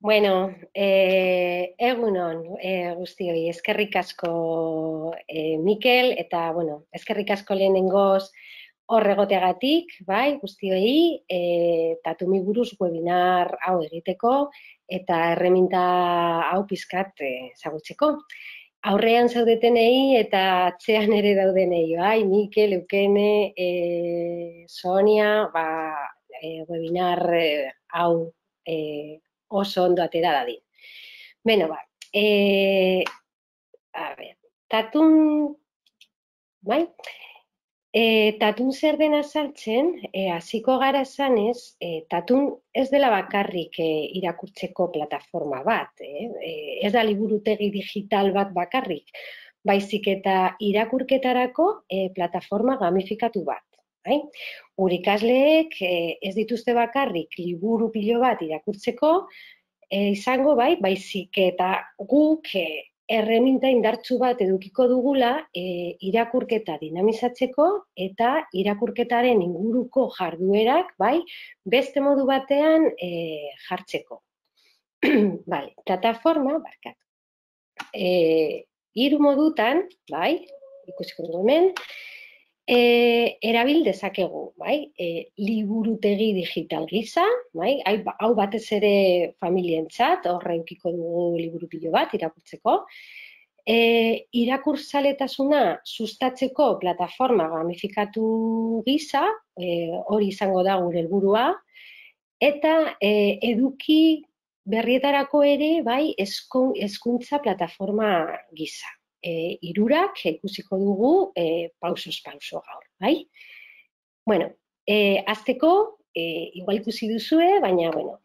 Bueno, egunon guztioi, eskerrik asko Mikel, eta, bueno, eskerrik asko lehenengoz hor egoteagatik, bai, guztioi, Tatumi buruz webinar hau egiteko, eta erreminta hau pizkat ezagutzeko. Aurrean zaudetenei eta atzean ere daudenei, bai, Mikel, Eukene, Sonia, webinar hau oso ondo atera dadin. Beno, a ver, tatun, bai? Tatun zer den azaltzen, hasiko gara esanez, tatun ez dela bakarrik irakurtzeko plataforma bat, ez da liburutegi digital bat bakarrik, baizik eta irakurketarako plataforma gamifikatu bat. Bai? Gure ikasleek ez dituzte bakarrik liburu pilo bat irakurtzeko, izango bai, baizik eta guk erreminta indartsu bat edukiko dugula irakurketa dinamizatzeko eta irakurketaren inguruko jarduerak bai, beste modu batean jartzeko. Vale, plataforma, barkatu. 3 modutan, bai, ikusiko dugu hemen, erabil dezakegu, bai, liburutegi digital gisa, bai, hau batez ere familientzat, horre edukiko dugu liburu pilo bat irakurtzeko, irakurzaletasuna sustatzeko plataforma gamifikatu gisa, hori izango da gure helburua, eta eduki berrietarako ere, bai, hezkuntza plataforma gisa. Hirurak ikusiko dugu pausoz pauso gaur, bai? Bueno, hasteko, igual ikusi duzue, baina, bueno,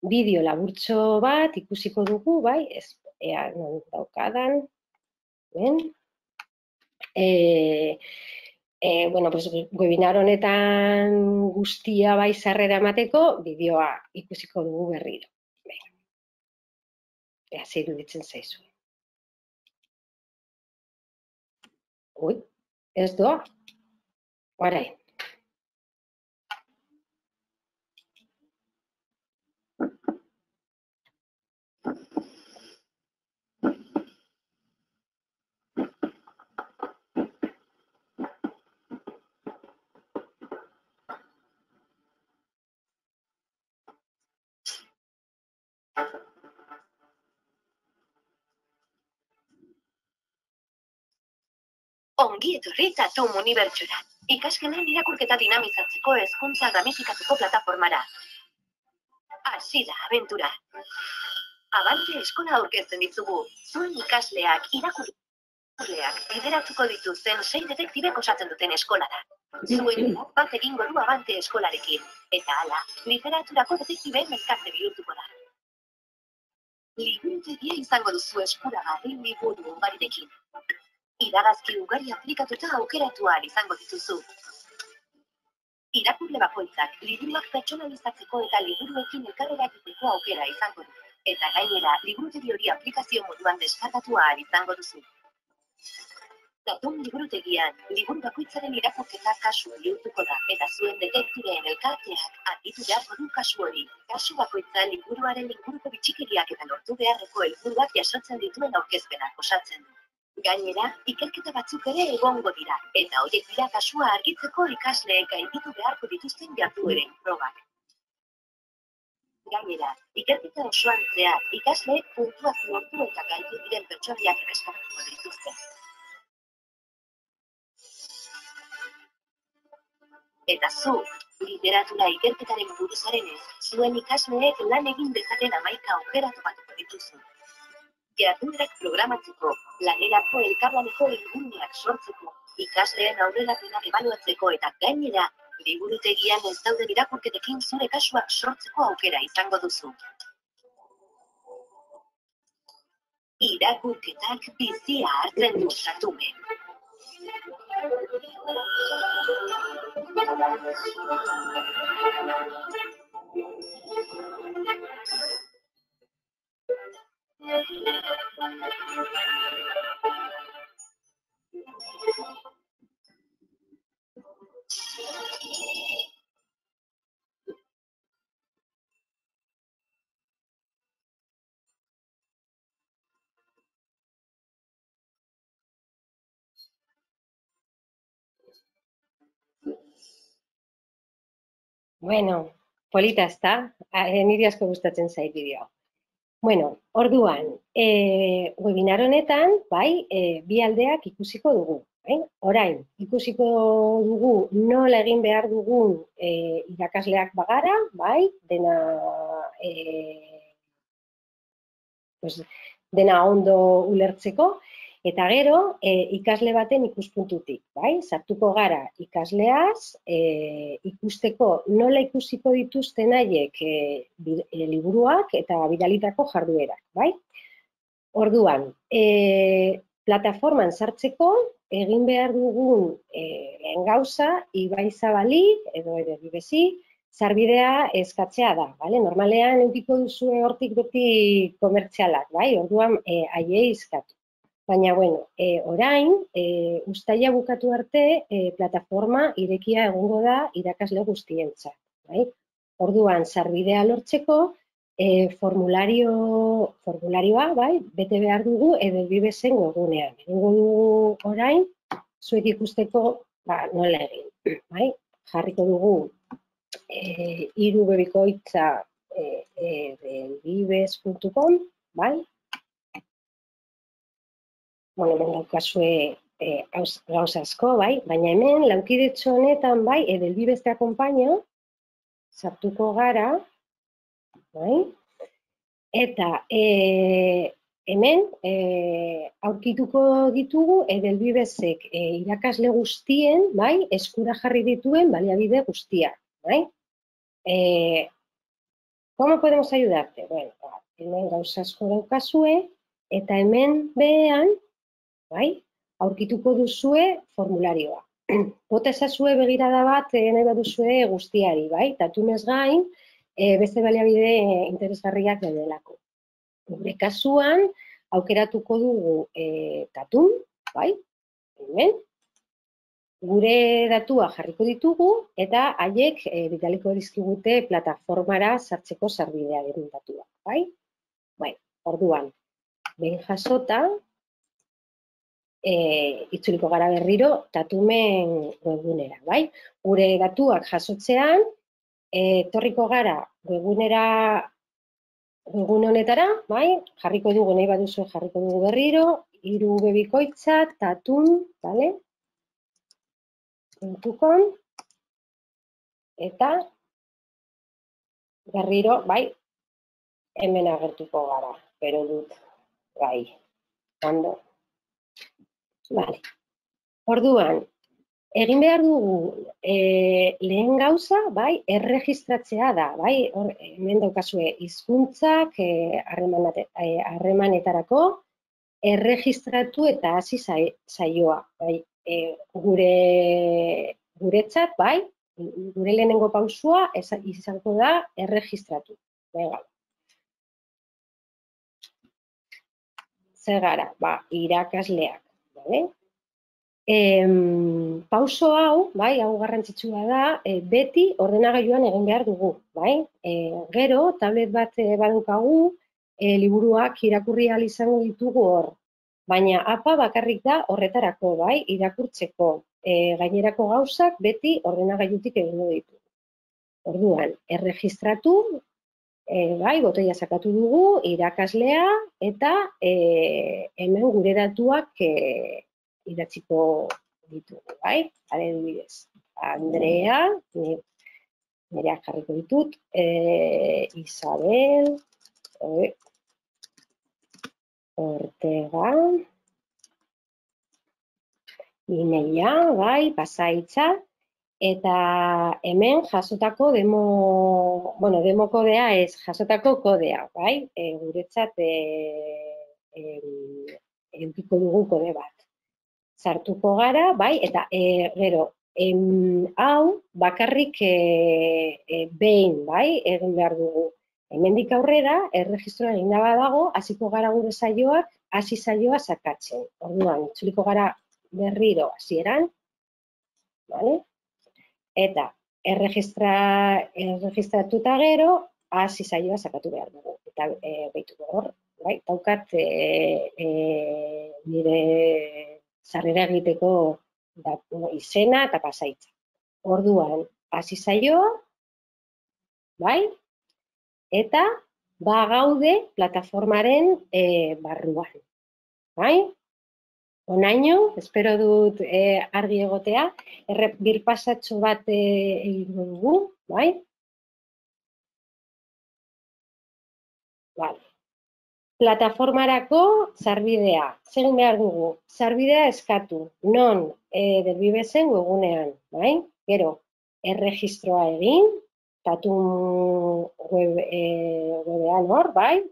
bideo laburtxo bat ikusiko dugu, bai? Ea non daukadan, ben? Bueno, pues, webinar honetan guztia bai sarrera emateko, bideoa ikusiko dugu berriro. Ea zer iruditzen zaizu. Ui, ez doa. Horai. Ongi etorri Tatum unibertsora. Ikasgelan irakurketa dinamizatzeko hezkuntza gamifikatuko plataformara. Hasi da abentura. Abante eskola aurkezten ditugu. Zuen ikasleak irakurleak bideratuko dituzten 6 detektibek osatzen duten eskola da. Zuen bat egingo du Abante eskolarekin. Eta hala, literaturako detektibeen elkarte bihurtuko da. Liburutegia izango duzu eskuragarri liburu ugarirekin. Iragazki ugari aplikatuta aukeratu ahal izango dituzu. Irakurle bakoitzak liburuak pertsonalizatzeko eta liburuekin elkarrerakiteko aukera izango du. Eta gainera, liburutegi hori aplikazio moduan deskargatu ahal izango duzu. Tatum liburutegian, liburu bakoitzaren irakurketa kasu bihurtuko da, eta zuen detektibeen elkarteak argitu beharko du kasu hori. Kasu bakoitza liburuaren inguruko bitxikeriak eta lortu beharreko helburuak jasotzen dituen aurkezpenak osatzen du. Gainera, ikerketa batzuk ere egongo dira, eta horiek dira kasua argitzeko ikasleek gainditu beharko dituzten jardueren probak. Gainera, ikerketa osoan zehar, ikasleek puntuak lortu eta gainditu diren pertsonaiak erreskatatuko dituzte. Eta zu, literatura ikerketaren buruzarenez, zuen ikasleek lan egin dezaten 11 aukeratu batuko dituzu. Jarduerak programatzeko, lanerako elkarlaneko helburuak sortzeko, ikasleen aurrerapenak ebaluatzeko eta gainera, liburutegian ez dauden irakurketekin zure kasuak sortzeko aukera izango duzu. Irakurketak bizia hartzen du Tatumen. Bueno, polita ezta? Niri asko gustatzen zait bideoa. Bueno, orduan, webinar honetan, bai, bi aldeak ikusiko dugu. Orain, ikusiko dugu nola egin behar dugun irakasleak bagara, bai, dena ondo ulertzeko, eta gero, ikasle baten ikuspuntutik, bai? Sartuko gara ikasleaz, ikusteko nola ikusiko dituzten haiek liburuak eta bidalitako jarduerak, bai? Orduan, plataforman sartzeko, egin behar dugun lehen gauza, Ibai Zabali edo Ederbibesi, sarbidea eskatzea da, bale? Normalean edukiko duzue hortik beti komertzialak, bai? Orduan, haiei eskatu. Baina, bueno, orain, uztaila bukatu arte, plataforma irekia egongo da irakasle guztientzat, bai? Orduan, sarbidea lortzeko, formularioa, bai, bete behar dugu Ederbibesen webgunean. Egingo dugu orain, zuek ikusteko, nola egin, bai? Jarriko dugu irubebikoitza edelbibes.com, bai? Bueno, hemen daukazue gauza asko, bai? Baina hemen, laukidetxo honetan, bai, Edelbibes te acompaña, sartuko gara, bai? Eta hemen aurkituko ditugu Edelbibesek irakasle guztien, bai, eskura jarri dituen baliabide guztiak, bai? ¿Cómo podemos ayudarte? Bueno, hemen gauza asko daukazue, eta hemen behean, bai, aurkituko duzue formularioa. Bota ezazue begirada bat nahi baduzue guztiari, bai? Tatunez gain, beste baliabide interesgarriak daudelako. Gure kasuan, aukeratuko dugu tatun, bai? Hemen. Gure datua jarriko ditugu, eta haiek bidaliko dizkigute plataformara sartzeko sarbidea diren datua, bai? Bai, orduan, behin jasota, itzuliko gara berriro tatumen webgunera, bai? Gure datuak jasotzean, etorriko gara webgune honetara, bai? Jarriko dugu, nahi baduzu jarriko dugu berriro, irubebikoitza, tatun, bale? .com, eta berriro, bai, hemen agertuko gara, pero dut, bai, ondo. Vale. Orduan, egin behar dugu lehen gauza, bai, erregistratzea da, bai, hemen daukazue hizkuntzak harremanetarako erregistratu eta hasi saioa, bai, guretzat, bai, gure lehenengo pausua izango da erregistratu. Venga. Zer gara, irakasleak, bale? Pauso hau, bai, hau garrantzitsua da, beti ordenagailuan egin behar dugu, bai? Gero, tablet bat badaukagu, liburuak irakurri ahal izango ditugu hor. Baina APA bakarrik da horretarako, bai, irakurtzeko. Gainerako gauzak beti ordenagailutik egingo ditugu. Orduan, erregistratu, bai, botoia sakatu dugu, irakaslea, eta hemen gure datuak idatziko ditugu, bai? Adibidez, Andrea, nireak jarriko ditut, Isabel, Ortega, Ineia, bai, Pasaitza, eta hemen jasotako demo kodea ez, jasotako kodea, bai? Guretzat edukiko dugu kode bat. Sartuko gara, bai, eta gero, hau bakarrik behin, bai, egin behar dugu. Hemendik aurrera, erregistroa egin da badago, hasiko gara gure saioak, hasi saioa sakatzen. Orduan, itzuliko gara berriro hasieran, bale? Eta erregistratuta gero, hasi saioa sakatu behar dugu. Eta behituko hor, bai, daukat nire sarrera egiteko izena eta Pasaitza. Orduan, hasi saioa, bai? Eta bagaude plataformaren barruan, bai? Onaino, espero dut argi egotea, birpasatxo bat egingo dugu, bai? Vale. Plataformarako sarbidea. Zegin behar dugu, sarbidea eskatu, non Delbibesen webgunean, bai? Gero, erregistroa egin, Tatun webean hor, bai?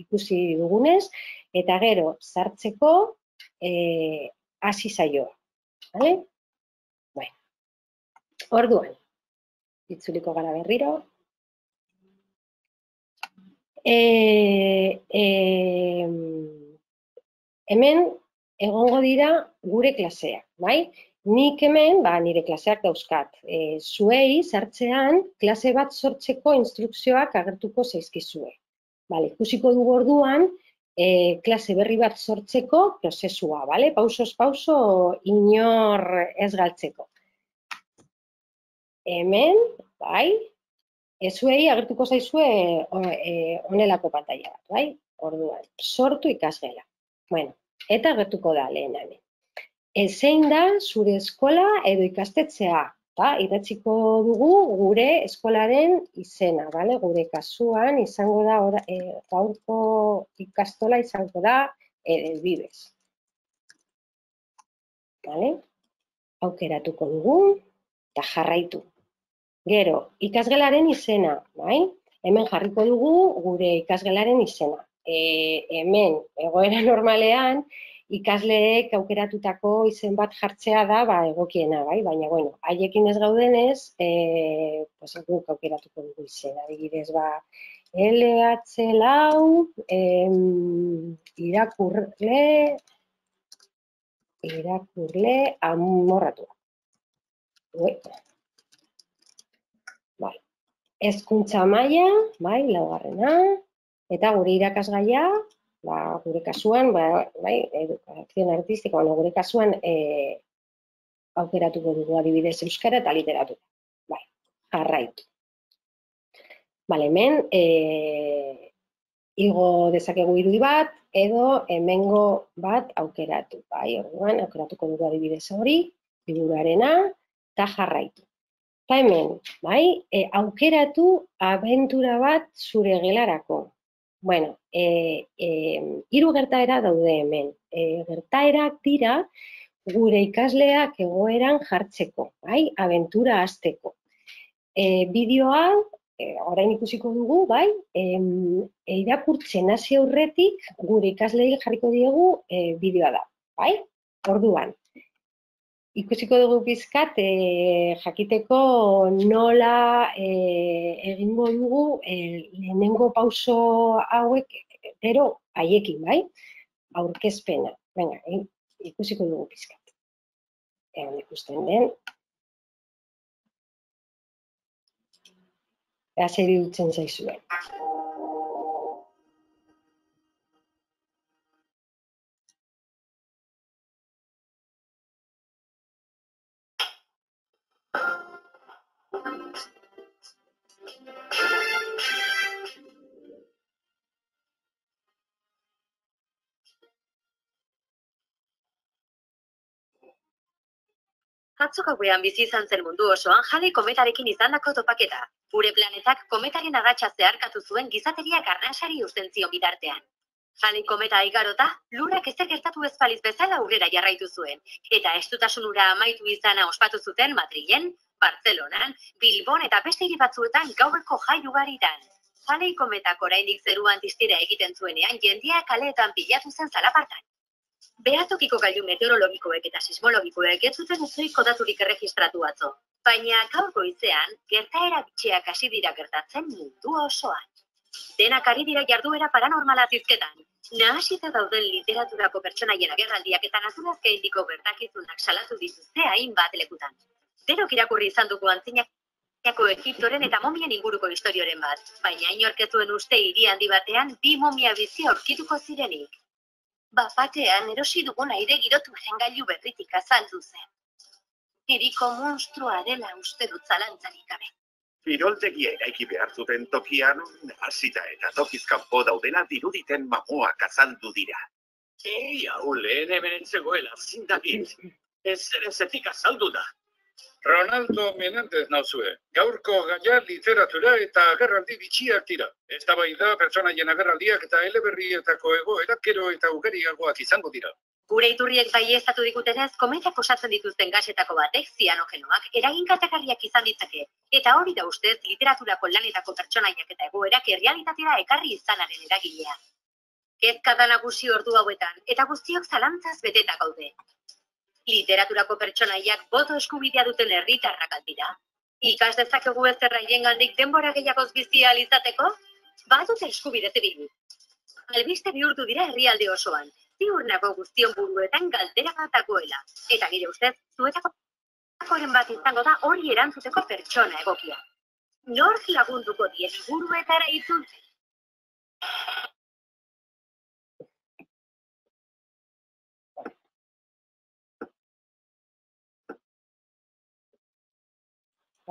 Ikusi dugunez, eta gero, sartzeko hasi zaioa, bale? Bai. Orduan, itzuliko gara berriro. Hemen egongo dira gure klaseak, bai? Nik hemen, nire klaseak dauzkat. Zuei sartzean klase bat sortzeko instrukzioak agertuko zaizkizue. Bale, ikusiko dugu orduan, klase berri bat sortzeko prozesua, bale? Pausoz pauso inor ez galtzeko. Hemen, bai? Zuei agertuko zaizue honelako pantaila bat, bai? Orduan, sortu ikasgela. Bueno, eta agertuko da lehen hemen. Zein da zure eskola edo ikastetxea, eta idatziko dugu gure eskolaren izena, bale? Gure kasuan izango da, gaurko ikastola izango da Delbibes. Bale? Aukeratuko dugu eta jarraitu. Gero, ikasgelaren izena, bai? Hemen jarriko dugu gure ikasgelaren izena. Hemen, egoera normalean, ikasleek aukeratutako izen bat jartzea da egokiena, bai? Baina, bueno, haiekin ez gaudenez, guk aukeratuko dugu izena. Adibidez, LH lau, irakurle amorratua. Hezkuntza maila, bai, laugarrena, eta gure irakasgaia, gure kasuan, bai, edukazion artistika, gure kasuan aukeratuko dugu adibidez euskara eta literatura. Bai, jarraitu. Bale, hemen, igo dezakegu irudi bat, edo hemengo bat aukeratu. Bai, orduan, aukeratuko dugu adibidez hori, liburuarena, eta jarraitu. Eta hemen, bai, aukeratu abentura bat zure gelarako. Bueno, 3 gertaera daude hemen. Gertaerak dira gure ikasleak egoeran jartzeko, bai, abentura hasteko. Bideoa, orain ikusiko dugu, bai, irakurtzen hasi aurretik gure ikasleei jarriko diegu bideoa da, bai? Orduan, ikusiko dugu pizkat jakiteko nola egingo dugu lehenengo pauso hauek, gero haiekin, bai? Aurkezpena. Venga, ikusiko dugu pizkat. Egon ikusten den. Ea zer iruditzen zaizuen. Atzo gauean bizi izan zen mundu osoan Halley kometarekin izandako topaketa. Gure planetak kometaren agatsa zeharkatu zuen gizateriak arnasari uzten zion bitartean. Halley kometa igarota, lurrak ezer gertatu ez baliz bezala aurrera jarraitu zuen, eta estutasun hura amaitu izana ospatu zuten Madrilen, Bartzelonan, Bilbon eta beste hiri batzuetan gaueko jai ugaritan. Halley kometak oraindik zeruan distira egiten zuenean jendea kaleetan pilatu zen zalapartan. Behatokiko gailu meteorologikoek eta sismologikoek ez zuten ezohiko daturik erregistratu atzo. Baina gaur goizean, gertaera bitxiak hasi dira gertatzen mundu osoan. Denak ari dira jarduera paranormala zizketan. Nahasita dauden literaturako pertsonaien agerraldiak eta naturazke indiko gertakizunak salatu dituzte hainbat lekutan. Denok irakurri izan dugu antzinako Egiptoren eta momien inguruko historioren bat, baina inork ez zuen uste hiri handi batean 2 momia bizi aurkituko zirenik. Bapatean erosi dugun aire girotu gailu berritik azaldu zen. Hiriko monstrua dela uste dut zalantzarik gabe. Kiroltegia eraiki behar zuten tokian, hasita eta tokiz kanpo daudela diruditen mamuak azaldu dira. Hau lehen hemen zegoela, zindakit. Ezetik azaldu da. Ronaldo Menendez nauzue. Gaurko gaia literatura eta agerraldi bitxiak dira. Eztabaida pertsonaien agerraldiak eta eleberrietako egoerak gero eta ugariagoak izango dira. Gure iturriek baieztatu digutenez, kometak osatzen dituzten gasetako batek, zianogenoak, eragin kaltegarriak izan ditzake. Eta hori da ustez, literaturako lanetako pertsonaiak eta egoerak errealitatera ekarri izanaren eragilea. Kezka da nagusi ordu hauetan, eta guztiok zalantzaz beteta gaude. Literaturako pertsonaiak boto eskubidea duten herritarrak dira. Ikas dezakegu ezer haiengandik denbora gehiagoz bizi ahal izateko? Badute eskubide zibil. Albiste bihurtu dira herrialde osoan. Ziur nago guztion buruetan galdera bat dagoela. Eta nire ustez, zuetakoren bat izango da hori erantzuteko pertsona egokia. Nork lagunduko die liburuetara itzultzen?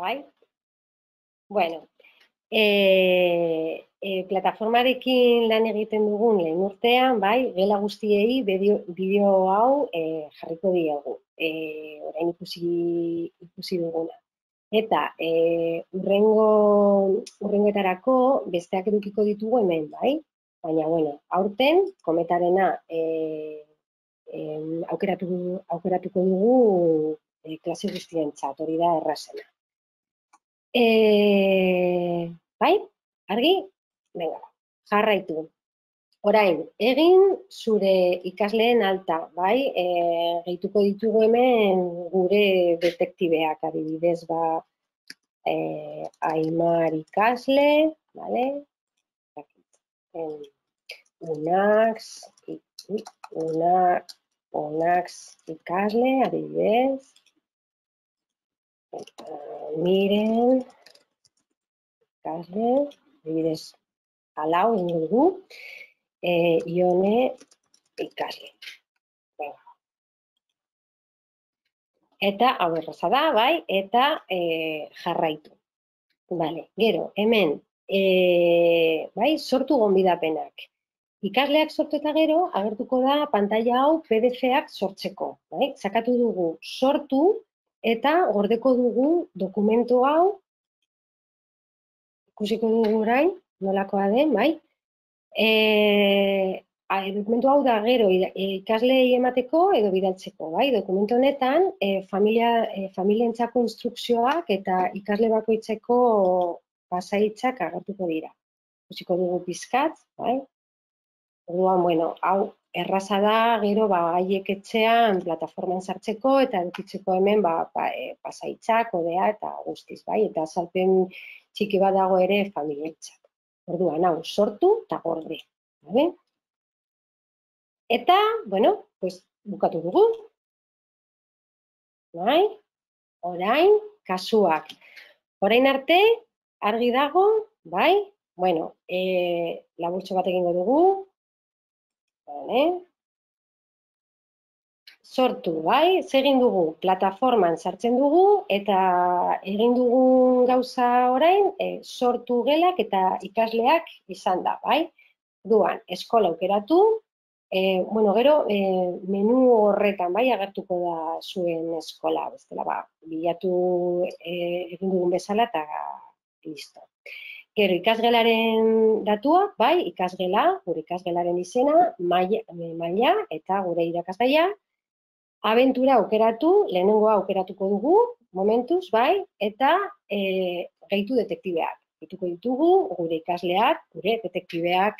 Bai? Bueno, plataformarekin lan egiten dugun lehen urtean, bai, gela guztiei bideo hau jarriko diegu, orain ikusi duguna. Eta urrengoetarako besteak edukiko ditugu hemen, bai? Baina, bueno, aurten kometarena aukeratuko dugu klase guztientzat, hori da errazena. Bai, argi? Venga, jarraitu. Orain, egin zure ikasleen alta, bai? Gehituko ditugu hemen gure detektibeak, adibidez, Aimar ikasle, bale? Unax ikasle, adibidez. Miren, ikasle, adibidez, alau ingo dugu, Ione ikasle. Eta hau erraza da, bai, eta jarraitu. Vale, gero, hemen, bai, sortu gonbidapenak. Ikasleak sortu eta gero, agertuko da pantaila hau PDF-ak sortzeko. Bai? Sakatu dugu sortu, eta gordeko dugu dokumentu hau, ikusiko dugu orain, nolakoa den, bai? Dokumentu hau da gero ikasleei emateko edo bidaltzeko, bai? Dokumentu honetan, familientzako instrukzioak eta ikasle bakoitzeko pasaitzak agertuko dira. Ikusiko dugu pizkat, bai? Orduan, bueno, hau erraza da, gero haiek etxean plataforman sartzeko eta edukitzeko hemen pasaitzak, kodea eta guztiz, bai? Eta azalpen txiki bat dago ere familientzat. Orduan, hau sortu eta gorde, bai? Eta, bueno, bukatu dugu. Bai? Orain, kasuak. Orain arte, argi dago, bai? Bueno, laburtxo bat egingo dugu. Sortu, bai? Zegin dugu, plataforman sartzen dugu eta egin dugun gauza orain, sortu gelak eta ikasleak izan da, bai? Duan, eskola aukeratu, bueno, gero, menu horretan, bai, agertuko da zuen eskola, bestela, bilatu egin dugun bezala eta listo. Gero, ikasgelaren datuak, bai, ikasgela, gure ikasgelaren izena, maila eta gure irakasgaia. Abentura aukeratu, lehenengoa aukeratuko dugu, momentuz, bai, eta gehitu detektibeak. Gehituko ditugu, gure ikasleak, gure detektibeak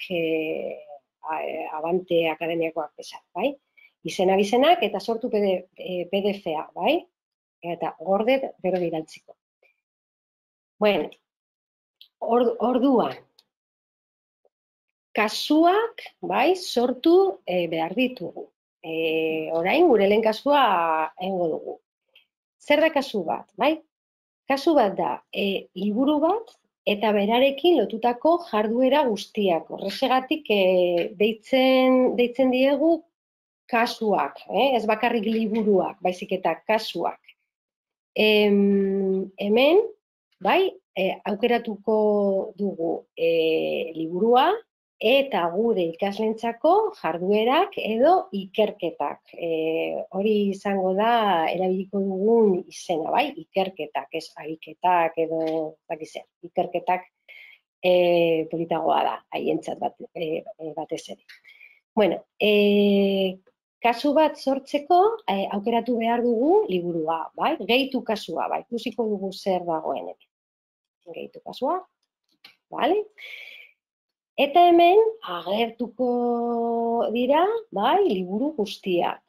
Abante Akademiakoak bezala, bai. Izenak eta sortu PDF-a, bai, eta gorde gero bidaltziko. Bueno, orduan, kasuak, bai, sortu behar ditugu. Orain, gure lehen kasua egingo dugu. Zer da kasu bat, bai? Kasu bat da, liburu bat eta berarekin lotutako jarduera guztiak. Horrexegatik deitzen diegu kasuak, ez bakarrik liburuak, baizik eta kasuak. Hemen, bai, aukeratuko dugu liburua eta gure ikaslentzako jarduerak edo ikerketak. Hori izango da erabiliko dugun izena, bai, ikerketak, ez ariketak edo bakitzen, ikerketak politagoa da, haientzat batez ere. Bueno, kasu bat sortzeko aukeratu behar dugu liburua, bai? Gehitu kasua, bai, ikusiko dugu zer dagoen hemen. Gehitu kasua, bale? Eta hemen agertuko dira, bai, liburu guztiak.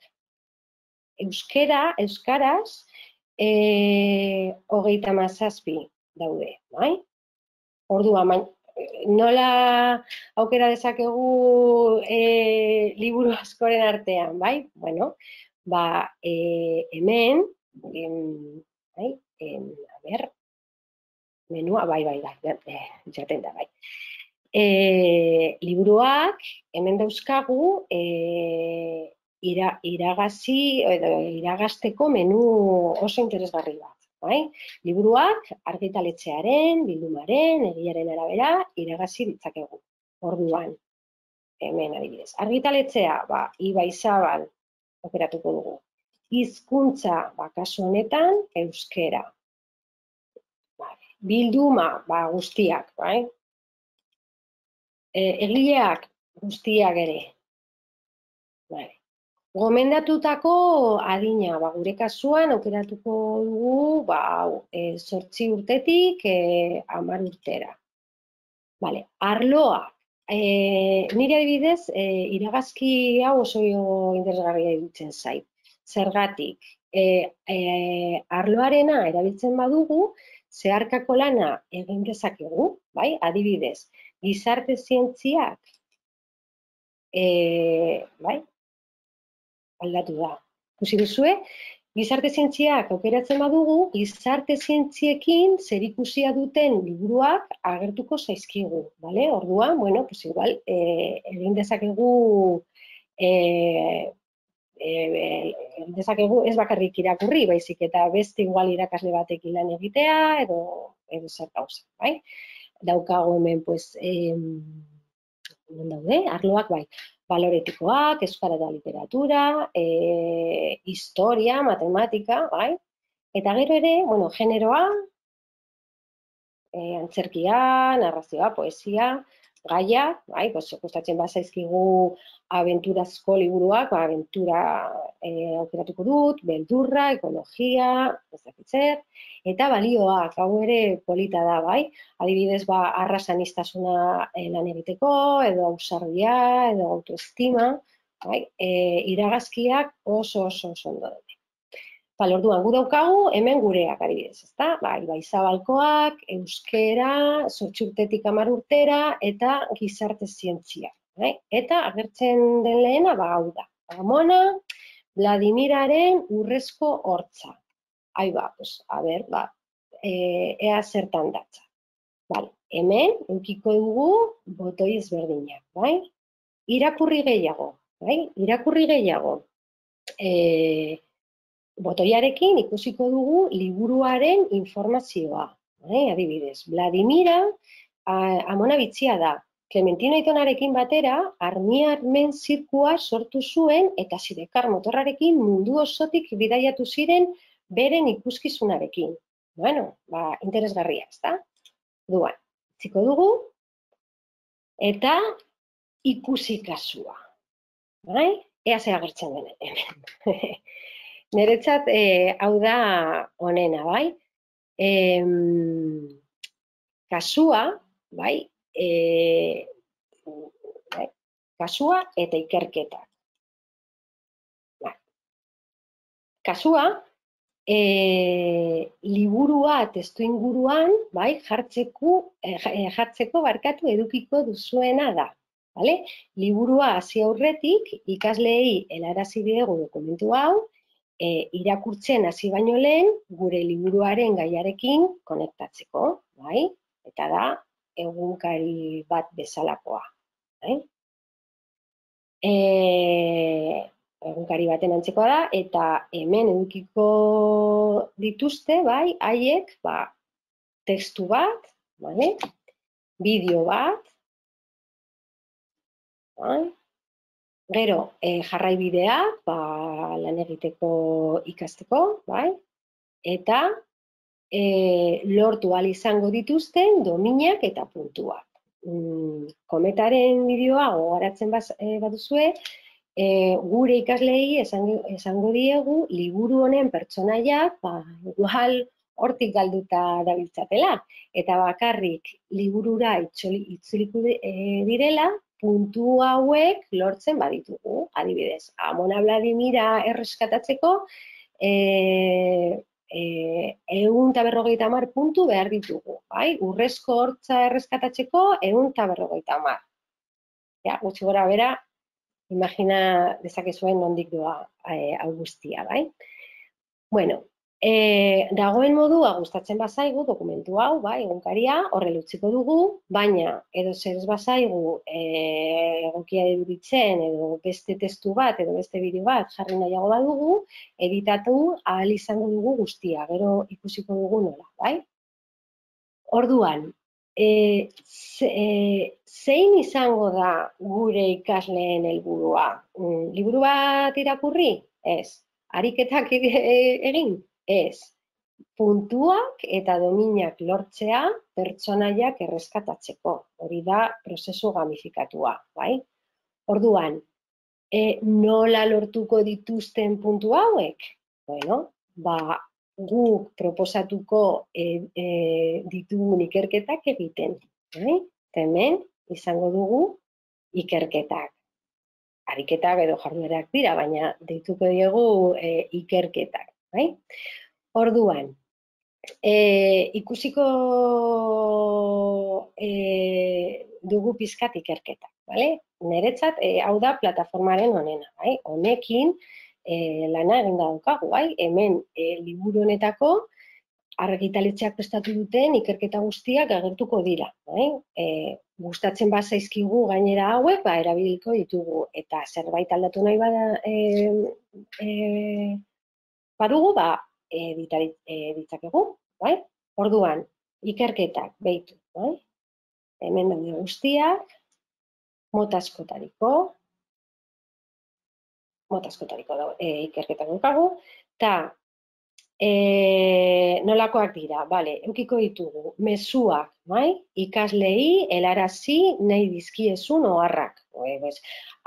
Euskaraz, 37 daude, bai? Orduan, nola aukera dezakegu liburu askoren artean, bai? Bueno, hemen, a ber, menua, bai, jaten da, bai. Liburuak, hemen dauzkagu, iragazteko menu oso interesgarri bat. Bai? Liburuak argitaletxearen, bildumaren, egiaren arabera iragazi ditzakegu. Orduan, hemen adibidez. Argitaletxea, Ibai Zabal operatuko dugu. Hizkuntza, kasu honetan, euskera. Bilduma, guztiak, bai? Egileak, guztiak ere. Gomendatutako adina, gure kasuan aukeratuko dugu 8 urtetik 10 urtera. Arloa, nire adibidez, iragazki hau oso interesgarria iruditzen zait. Zergatik, arloarena erabiltzen badugu, zeharkako lana egin dezakegu, bai? Adibidez, gizarte zientziak, bai? Aldatu da. Ikusi duzue, gizarte zientziak aukeratzen badugu, gizarte zientziekin zerikusia duten liburuak agertuko zaizkigu, bale? Orduan, bueno, pues igual, egin dezakegu ez bakarrik irakurri, baizik eta beste igual irakasle batekin lan egitea edo zer gauza, bai? Daukago hemen, pues, daude, arloak, bai. Baloretikoak, euskara eta literatura, historia, matematika, bai? Eta gero ere, bueno, generoa, antzerkia, narrazioa, poesia, gaia, bai? Kostatzen bazaizkigu abenturazko liburuak, abentura aukeratuko dut, beldurra, ekologia, ez dakit zer, eta balioak, hau ere polita da, bai? Adibidez, arrasaniztasuna lan egiteko, edo ausardia, edo autoestima, bai? Iragazkiak oso ondo daude. Orduan, gu daukagu, hemen gureak adibidez, ezta? Ibai Zabalkoak, euskera, 8 urtetik 10 urtera, eta gizarte zientzia. Eta agertzen den lehena, hau da. Amona, Vladimiraren urrezko hortza. Ea zertan datza. Hemen, eukiko dugu botoi ezberdinak, bai? Irakurri gehiago, bai? Irakurri gehiago. Botoiarekin ikusiko dugu liburuaren informazioa. Adibidez, Vladimira amona bitxia da. Clementino Aitonarekin batera, armiarmen zirkua sortu zuen eta Sidecar motorrarekin mundu osotik bidaiatu ziren beren ikuskizunarekin. Bueno, interesgarria, ezta? Duan, itziko dugu, eta ikusi kasua. Ea ze agertzen den hemen. Niretzat, hau da honena, bai? Kasua, bai? Kasua eta ikerketak. Kasua, liburua testu inguruan, bai? Jartzeko edukiko duzuena da. Liburua hasi aurretik, ikasleei helarazi diegu dokumentu hau, irakurtzen hasi baino lehen, gure liburuaren gaiarekin konektatzeko, bai? Eta da, egunkari bat bezalakoa. Egunkari baten antzekoa da, eta hemen edukiko dituzte, bai, haiek, testu bat, bale? Bideo bat, bai? Gero, jarraibideak, lan egiteko ikasteko, bai? Eta lortu ahal izango dituzten dominak eta puntuak. Kometaren bideoa gogaratzen baduzue, gure ikasleei esango diegu liburu honen pertsonaiak igual hortik galduta dabiltzatela, eta bakarrik liburura itzuliko direla puntu hauek lortzen baditugu. Adibidez, Amona Vladimira erreskatatzeko 150 puntu behar ditugu, bai? Urrezko hortza erreskatatzeko 150. Ja, gutxi gora bera, imagina dezakezuen nondik doa hau guztia, bai? Bueno, dagoen modua gustatzen bazaigu dokumentu hau, bai, egunkaria, horrela utziko dugu, baina edo zer ez bazaigu egokia iruditzen edo beste testu bat edo beste bideo bat jarri nahiago badugu, editatu ahal izango dugu guztia, gero ikusiko dugu nola, bai? Orduan, zein izango da gure ikasleen helburua? Liburu bat irakurri? Ez. Ariketak egin? Ez. Puntuak eta dominak lortzea pertsonaiak erreskatatzeko. Hori da prozesu gamifikatua, bai? Orduan, nola lortuko dituzten puntu hauek? Bueno, guk proposatuko ditugun ikerketak egiten, bai? Hemen izango dugu ikerketak. Ariketak edo jarduerak dira, baina deituko diegu ikerketak, bai? Orduan, ikusiko dugu pizkat ikerketak, bale? Niretzat, hau da plataformaren honena, bai? Honekin lana eginda daukagu, bai? Hemen liburu honetako argitaletxeak prestatu duten ikerketa guztiak agertuko dira, bai? Gustatzen bazaizkigu gainera hauek, erabiliko ditugu, eta zerbait aldatu nahi badugu, ditzakegu, bai? Orduan, ikerketak behitu, bai? Hemen daude guztiak, mota askotariko ikerketak daukagu, eta nolakoak dira, bale, eukiko ditugu, mezuak, bai? Ikasleei helarazi nahi dizkiezun oharrak.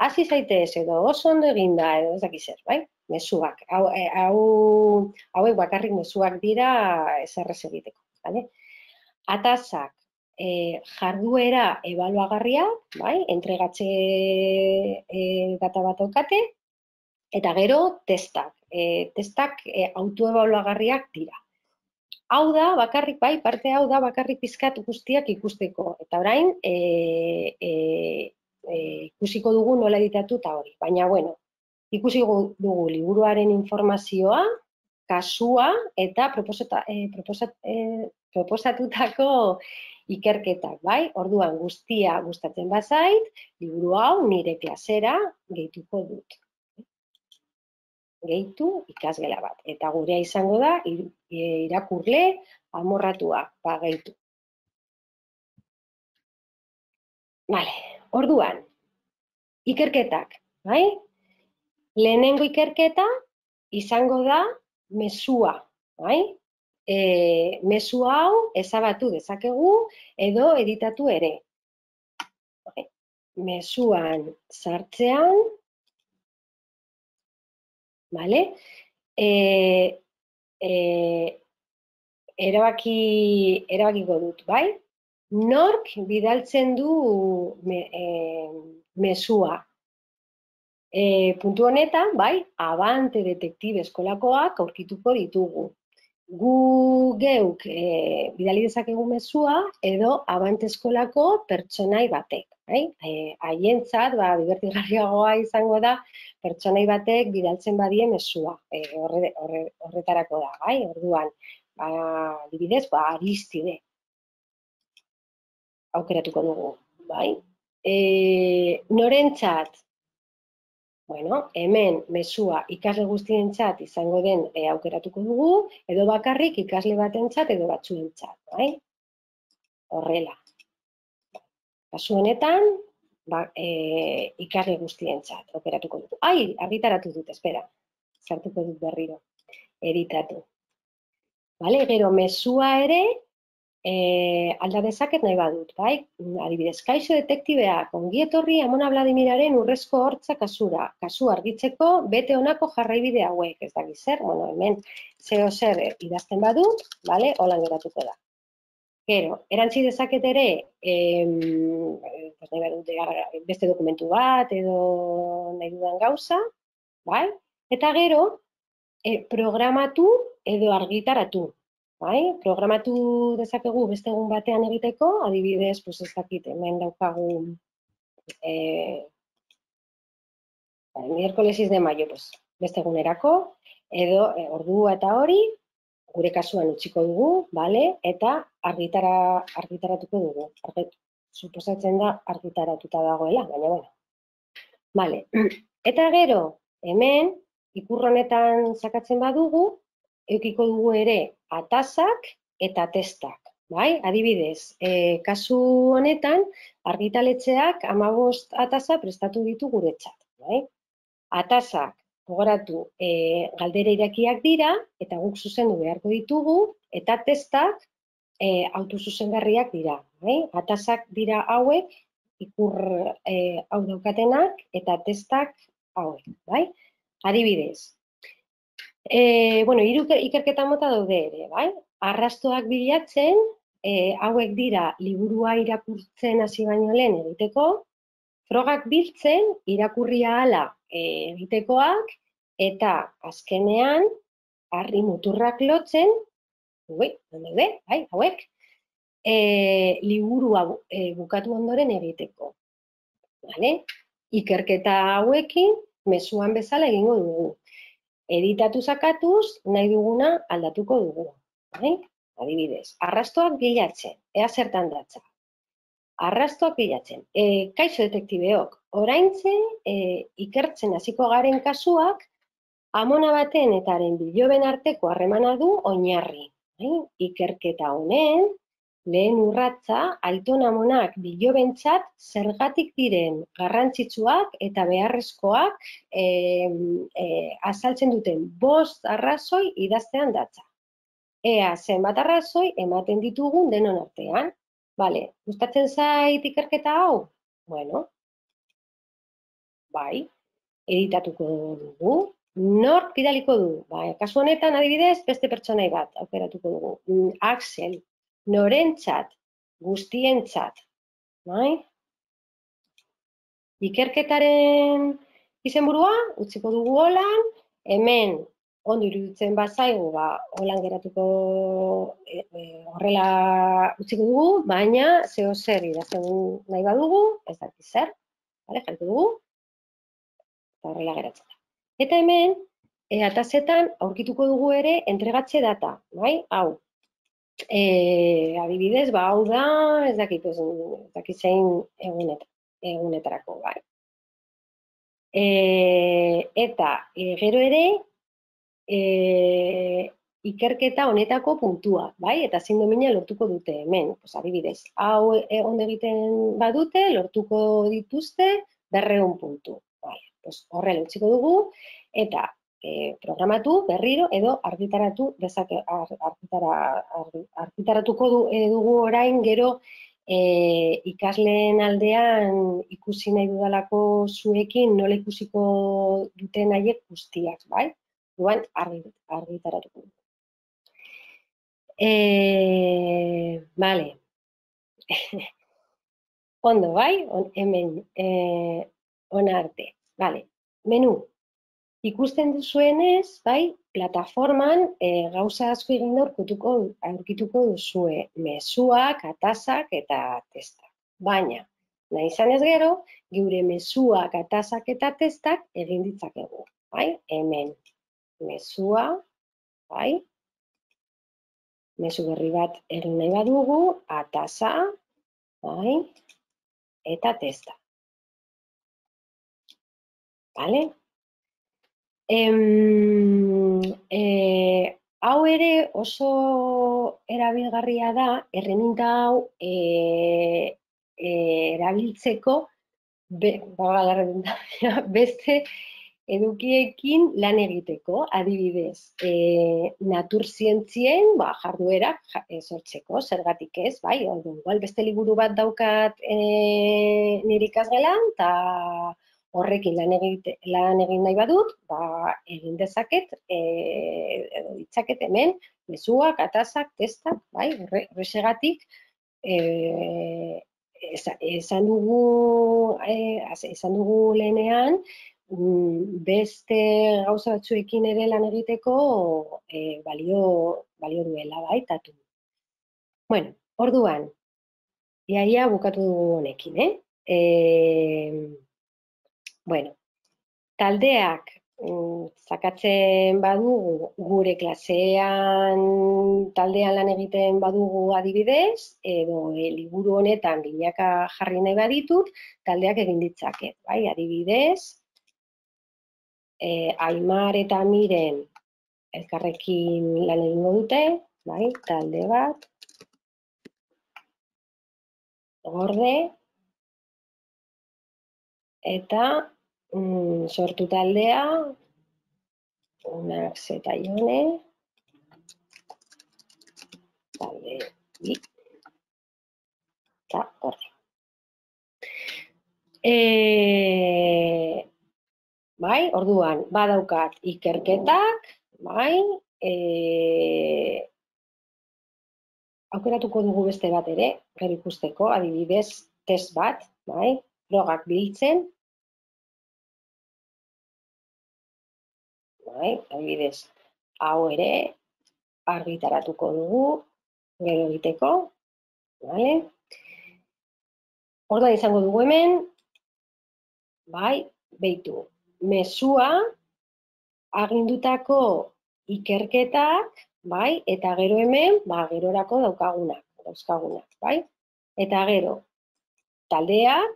Hasi zaitez edo oso ondo eginda edo ez dakiz zer, bai? Mezuak. Hauek bakarrik mezuak dira eserrez egiteko, bale? Atazak, jarduera ebaluagarriak, bai? Entregatze data bat daukate, eta gero testak. Testak autoebaluagarriak dira. Hau da, bakarrik, bai, parte hau da, bakarrik pizkat guztiak ikusteko. Eta orain, ikusiko dugu nola editatu eta hori. Baina, bueno, ikusiko dugu liburuaren informazioa, kasua eta proposatutako ikerketak, bai? Orduan, guztia gustatzen bazait, liburu hau nire klasera gehituko dut. Gehitu ikasgela bat. Eta gurea izango da, irakurle amorratua, gehitu. Vale, orduan, ikerketak, bai? Lehenengo ikerketa izango da mezua, bai? Mezu hau ezabatu dezakegu edo editatu ere. Mezuan sartzean, bale? Erabakiko dut, bai? Nork bidaltzen du mezua? Puntu honetan, bai, Abante Detektibe eskolakoak aurkituko ditugu. Gu geuk bidali dezakegu mezua edo Abante eskolako pertsonai batek. Haientzat, dibertigarriagoa izango da, pertsonai batek bidaltzen badie mezua. Horretarako da, bai? Orduan, adibidez, Aristide aukeratuko dugu, bai? Norentzat? Bueno, hemen mezua ikasle guztientzat izango den aukeratuko dugu, edo bakarrik ikasle batentzat edo batzuentzat, bai? horrela. Kasu honetan, ikasle guztientzat operatuko dut. Argitaratu dut, espera. Sartuko dut berriro. Editatu. Vale, gero mezua ere alda dezaket nahi badut, bai? Adibidez, kaixo detektibeak, ongi etorri Amona Vladimiraren urrezko hortza kasura. Kasu argitzeko bete honako jarraibide hauek, ez dakit zer, bueno, hemen zeo zer idazten badut, vale? Holan geratuko da. Gero, erantzi dezaket ere, beste dokumentu bat edo nahi dudan gauza, bai? Eta gero, programatu edo argitaratu. Bai? Programatu dezakegu beste egun batean egiteko, adibidez, ez dakit, hemen daukagu miércoles 6 de mayo, beste egunerako, edo ordua eta hori, gure kasuan utziko dugu, bale? Eta argitaratuko dugu. Suposatzen da argitaratuta dagoela, baina bueno. Bale. Eta gero, hemen, ikur honetan sakatzen badugu, edukiko dugu ere atazak eta testak. Bai? Adibidez, kasu honetan, argitaletxeak 15 ataza prestatu ditu guretzat. Bai? Atazak, gogoratu, galdera irakiak dira, eta guk zuzendu beharko ditugu, eta testak autozuzengarriak dira. Bai? Atazak dira hauek, ikur hau daukatenak, eta testak hauek. Bai? Adibidez, hiru ikerketa mota daude ere, bai? Arrastoak bilatzen, hauek dira liburua irakurtzen hasi baino lehen egiteko, frogak biltzen, irakurri ahala egitekoak, eta azkenean, harri muturrak lotzen, hauek, liburua bukatu ondoren egiteko. Ikerketa hauekin, mezuan bezala egingo dugu. Editatu sakatuz, nahi duguna aldatuko dugu. Adibidez, arrastoak bilatzen, ea zertan datza. Arrastoak bilatzen. Kaixo detektibeok, oraintze ikertzen hasiko garen kasuak, amona baten eta haren biloben arteko harremana du oinarri. Ikerketa honen, lehen urratsa, aiton amonak bilobentzat zergatik diren garrantzitsuak eta beharrezkoak azaltzen duten 5 arrazoi idaztean datza. Ea zenbat arrazoi ematen ditugun denon artean. Bale, gustatzen zait ikerketa hau? Bueno, bai, editatuko dugu. Nork bidaliko du? Kasu honetan adibidez, beste pertsonai bat aukeratuko dugu. Axel, norentzat, guztientzat. Ikerketaren izenburua, utziko dugu holan, hemen ondo iruditzen bazaigu, holan geratuko horrela utziko dugu, baina zeo zer idazten nahi badugu, ez dakit zer, jarriko dugu, eta horrela geratzen da. Eta hemen, atazetan aurkituko dugu ere entregatze data, hau. Adibidez, hau da, ez dakit zein egunetarako, bai. Eta gero ere, ikerketa honetako puntua, bai? Eta zein domina lortuko dute hemen. Adibidez, hau ondo egiten badute, lortuko dituzte 200 puntu. Horrela utziko dugu, eta programatu, berriro, edo argitaratuko dugu orain gero ikasleen aldean ikusi nahi dudalako zuekin nola ikusiko duten haiek guztiak, bai? Duan argitaratuko dugu. Bale. Ondo, bai? Hemen, ona arte. Bale. Menu. Ikusten duzuenez, bai, plataforman gauza asko egin aurkituko duzue mezuak, atazak eta testak. Baina, nahi izanez gero, geure mezuak, atazak eta testak egin ditzakegu. Bai, hemen, mezua, bai, mezu berri bat egin nahi badugu, ataza, bai, eta testa. Bale? Hau ere oso erabilgarria da, erreminta hau erabiltzeko beste edukiekin lan egiteko, adibidez, naturzientzien jarduerak sortzeko, zergatik ez, bai, igual beste liburu bat daukat nire ikasgelan, eta horrekin lan egin nahi badut, egin dezaket, ditzaket hemen, mezuak, atazak, testak, bai, horregatik, esan dugu lehenean, beste gauza batzuekin ere lan egiteko balio duela, bai, tatu. Bueno, orduan, iaia bukatu dugu honekin, Bueno, taldeak zakatzen badugu, gure klasean taldean lan egiten badugu adibidez, edo liburu honetan binaka jarri nahi baditut, taldeak egin ditzaket, bai, adibidez, Aimar eta Miren elkarrekin lan egingo dute, bai, talde bat, gorde, eta sortu taldea, Unak zeta Ione, talde bi, eta gorde. Bai, orduan, badaukat ikerketak, bai, aukeratuko dugu beste bat ere, gero ikusteko, adibidez, test bat, bai, frogak biltzen, bai, adibidez, hau ere, argitaratuko dugu, gero egiteko, bai, orduan izango dugu hemen, bai, behitu, mezua, agindutako ikerketak, bai, eta gero hemen, gerorako dauzkagunak, bai, eta gero, taldeak,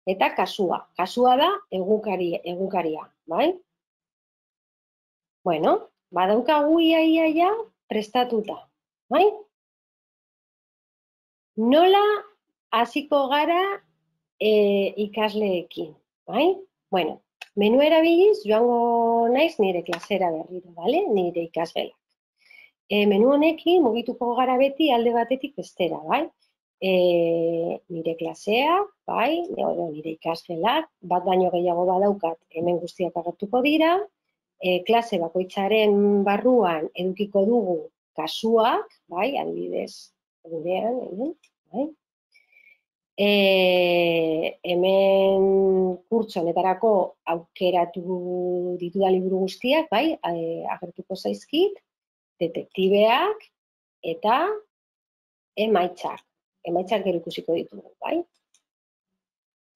eta kasua. Kasua da egunkaria, bai? Bueno, badaukagu iaia prestatuta, bai? Nola hasiko gara ikasleekin, bai? Bueno, menu erabiliz joango naiz nire klasera berriro, bale? Nire ikasgelak. Menu honekin mugituko gara beti alde batetik bestera, bai? Nire klasea, bai, nire ikasgelak, bat baino gehiago badaukat, hemen guztiak agertuko dira, klase bakoitzaren barruan edukiko dugu kasuak, bai, adibidez, gurean, bai. Hemen kurtso honetarako aukeratu ditudan liburu guztiak, bai, agertuko zaizkit, detektibeak eta emaitzak. Emaitzak gero ikusiko ditugu, bai?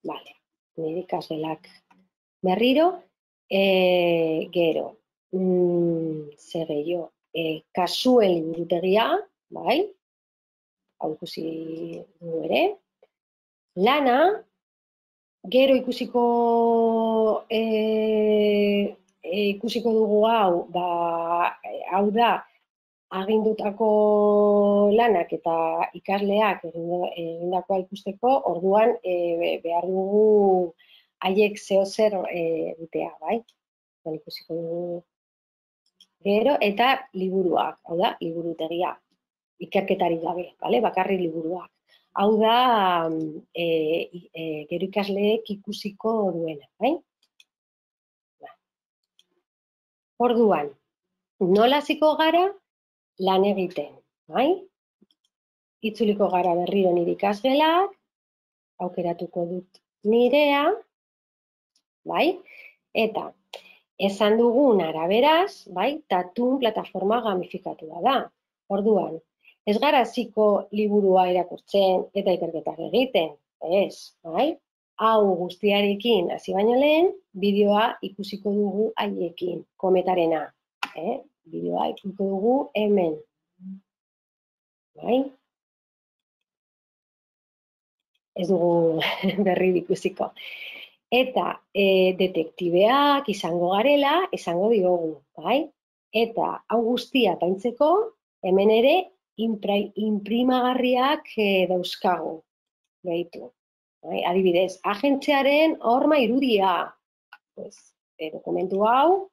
Bale, nire ikasgelak berriro, gero, zer gehiago, kasuen liburutegia, bai? Hau ikusi dugu ere. Lana, gero ikusiko dugu hau, hau da, agindutako lanak eta ikasleak egindakoa ikusteko, orduan behar dugu haiek zeozer dutea, bai? Ikusiko dugu gero, eta liburuak, hau da, liburutegia, ikerketarik gabe, bakarrik liburuak. Hau da, gero ikasleek ikusiko duena, bai? Orduan, nola hasiko gara lan egiten, bai? Itzuliko gara berriro nire ikasgelak, aukeratuko dut nirea, bai? Eta, esan dugun araberaz, bai? Tatun plataforma gamifikatua da. Orduan, ez gara hasiko liburua irakurtzen eta ikerketak egiten, ez, bai? Hau guztiarekin hasi baino lehen, bideoa ikusiko dugu haiekin, kometarena. Bideoa ikusiko dugu hemen. Bai? Ez dugu berri ikusiko. Eta detektibeak izango garela, esango diogu, bai? Eta hau guztia apaintzeko, hemen ere inprimagarriak dauzkagu. Behitu. Adibidez, agentziaren horma irudia. Dokumentu hau,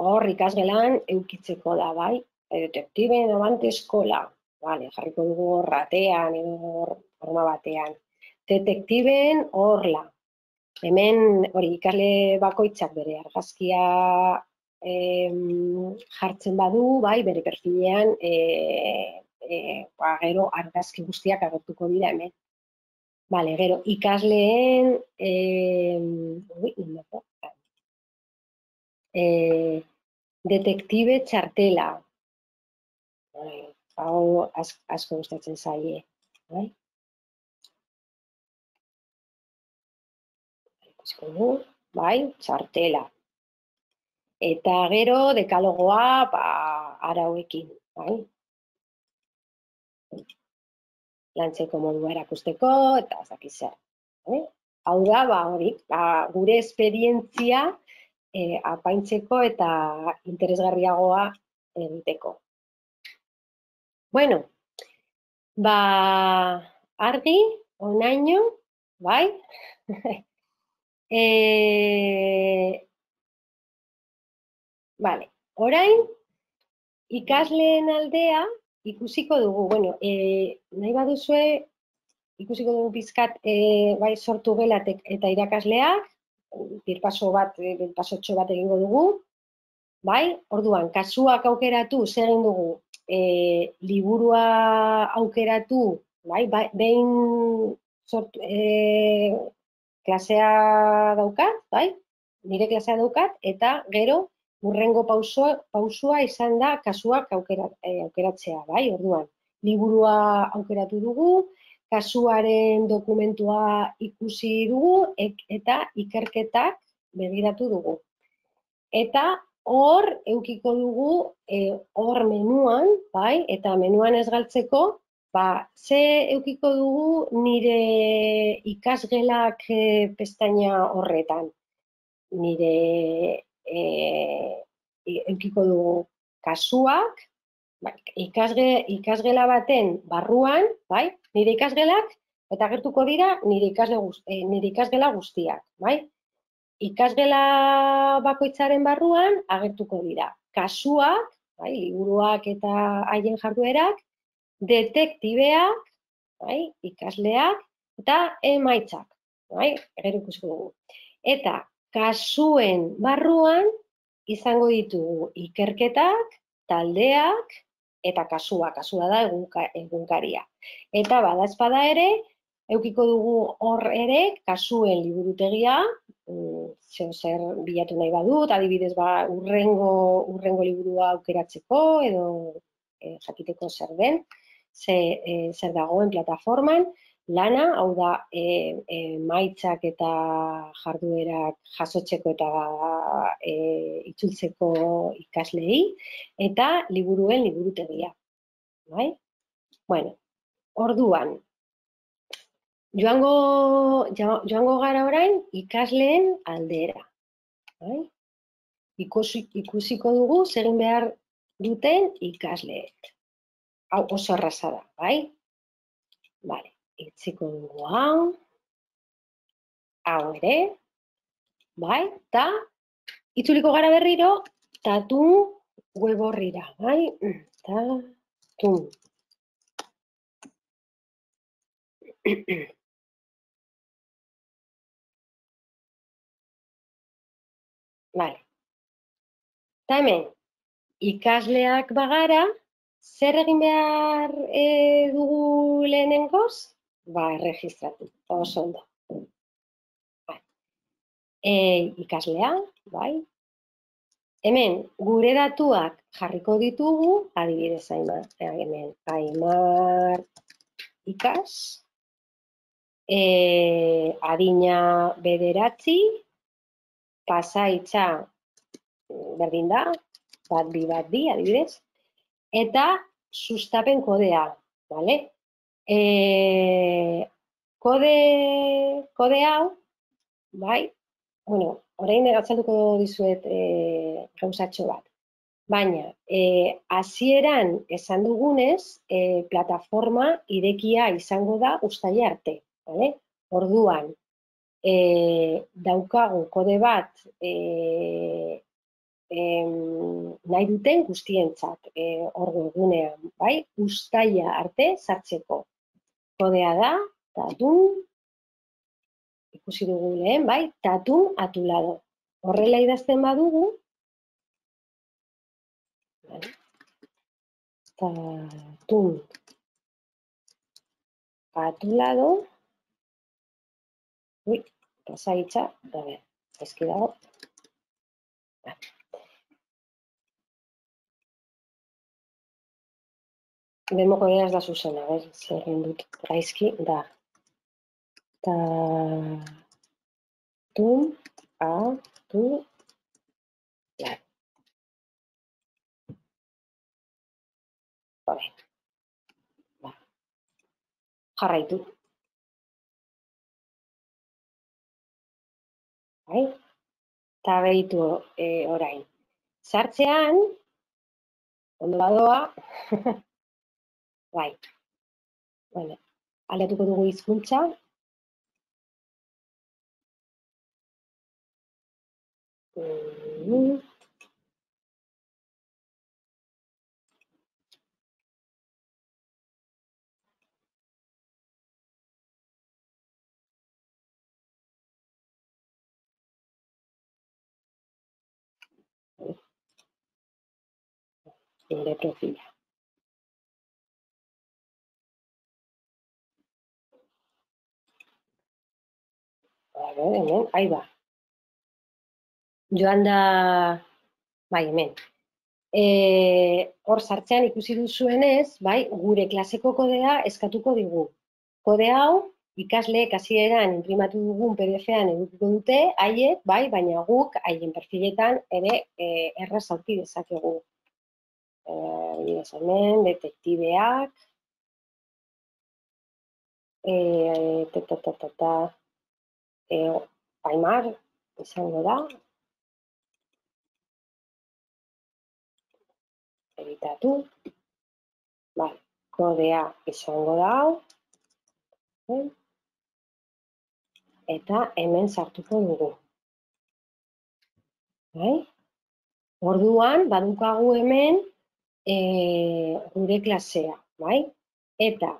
hor ikasgelan eukitzeko da, bai? Detektiben abante eskola. Jarriko dugu hor ratean, edo horma batean. Detektiben horla. Hemen, hori, ikasle bakoitzak bere argazkia jartzen badu, bai, bere perfilean, gero argazki guztiak agertuko dira hemen. Bale, gero, ikasleen, detektibe txartela. Hau asko gustatzen zaie. Bai, txartela. Eta gero, dekalogoa, arauekin, bai? Lantzeko modua erakusteko, eta ezakit zer. Hau da, hori, gure esperientzia apaintzeko eta interesgarriagoa egiteko. Bueno, argi, onaino, bai? Vale, orain, ikasleen aldea ikusiko dugu. Bueno, nahi baduzue, ikusiko dugu pizkat bai sortu gelatek eta irakasleak, birpasotxo bat egingo dugu. Bai, orduan, kasuak aukeratu, zer egin dugu, liburua aukeratu, bai, behin klasea daukat, bai, nire klasea daukat, eta gero, hurrengo pausua izan da kasuak aukeratzea, bai, orduan. Liburua aukeratu dugu, kasuaren dokumentua ikusi dugu, eta ikerketak begiratu dugu. Eta hor, eukiko dugu, hor menuan, bai, eta menuan ez galtzeko, ze eukiko dugu nire ikasgelak pestaina horretan. Nire eukiko dugu kasuak, ikasgela baten barruan, bai, nire ikasgelak, eta agertuko dira nire ikasgela guztiak, bai. Ikasgela bakoitzaren barruan agertuko dira kasuak, bai, liburuak eta haien jarduerak, detektibeak, bai, ikasleak, eta emaitzak, bai, gero ikusiko dugu. Eta kasuen barruan izango ditugu ikerketak, taldeak eta kasua da egunkaria. Eta badazpada ere, eukiko dugu hor ere kasuen liburutegia, zer bilatu nahi badut, adibidez urrengo liburua aukeratzeko edo jakiteko zer den, zer dagoen plataforman, lana, hau da, emaitzak eta jarduerak jasotzeko eta itzultzeko ikaslei, eta liburuen liburutegia. Bueno, orduan, joango gara orain ikasleen aldera. Ikusiko dugu zegin behar duten ikasleek. Hau oso erraza da, bai? Bale. Itziko dugu hau ere, bai, eta itzuliko gara berriro, tatun web horrira, bai, tatun. Bale, eta hemen, ikasleak bagara, zer egin behar dugu lehenengoz? Erregistratu, oso ondo. Ikaslea, bai. Hemen, gure datuak jarriko ditugu, adibidez hemen, Aimar ikas, adina 9, pasaitza berdin da, 1-2, adibidez, eta sustapen kodea, bale? Kode hau, bai, bueno, orain azalduko dizuet gauzatxo bat. Baina, hasieran esan dugunez, plataforma irekia izango da uztaila arte. Vale? Orduan, daukagu kode bat nahi duten guztientzat hor webgunean, bai? Uztaila arte sartzeko. Kodea da, tatun, ikusi dugu lehen, bai? Tatun atulado. Horrela idazten badugu, tatun atulado, pasaitza, a ver, eski dago. Bemo kodea ez da zuzena, zer egin dut gaizki, da. Tatun atulado. Jarraitu. Bai? Eta behitu orain. Sartzean, ondo badoa, bai. Bueno, aldatuko dugu hizkuntza. Nire profila. Hemen, ahi ba. Joan da, bai, hemen. Hor sartzean ikusi duzuenez, bai, gure klaseko kodea eskatuko digu. Kode hau, ikasleek hasieran inprimatu dugun PDF-an edukiko dute, haiek, bai, baina guk haien perfiletan ere erraz aurki dezakegu. Hemen, detektibeak, Aimar, izango da, editatu, bai, kodea izango da hau, eta hemen sartuko dugu. Bai? Orduan, badukagu hemen gure klasea, bai? Eta